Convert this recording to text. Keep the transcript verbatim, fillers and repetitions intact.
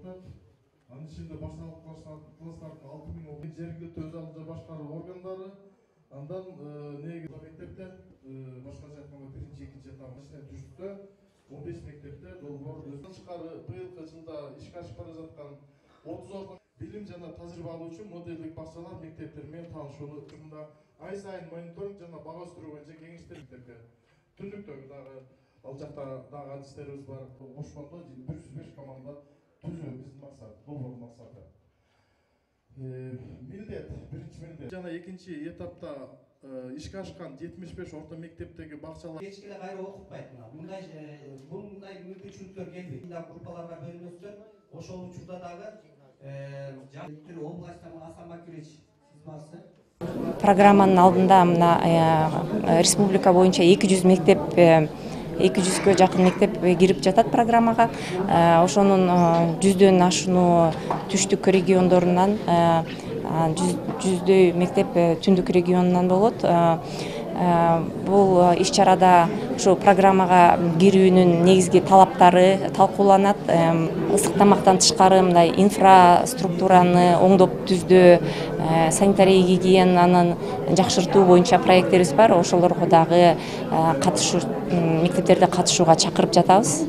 жатат. Анын ичинде башталгыч класстардын алты миң жергиликтүү өз алдынча башкаруу органдары, андан негизи мектептер, башкача айтканда биринчи, экинчи этап түштү. он беш мектепте долбоор тышкары быйылкы жылда ишке ашып бара жаткан отуз ордон билим жана тажрыйба алуу үчүн модельдик бакчалар мектептер менен таанышууну учурунда ай сайын мониторинг жана бага өстүрүү боюнча кеңештер мектепке. Түндүктөгү дагы ал жакта дагы адистерибиз бар. Ошондо бир жүз беш команда түзүү биздин максат, долбоордун максаты. Милдет, биринчи милдет жана экинчи этапта ишке ашкан жетимиш беш орто мектептеги бакчалар кечке эле кайра окутпайт. Мындай мындай мүмкүнчүлүктөр келбейт. Группаларга бөлүнөсүздөр. Ошол учурда дагы жана областта Асан Бакирович сиз барсыз. Программанын алдында мына республика боюнча эки жүз мектеп, эки жүзгө жакын мектеп кирип жатат программага. Ошонун жүздөн ашууну түштүк региондорунан, жүздөй мектеп түндүк регионунан болот. Бул иш-чарада ушу программага кирүүнүн негизги талаптары талкууланат. Ысык тамактан тышкары мындай инфраструктураны оңдоп түздөө, санитария гигиенанын жакшыртуу боюнча проекттерибиз бар. Ошолорго дагы катышуу, мектептерди катышууга чакырып жатабыз.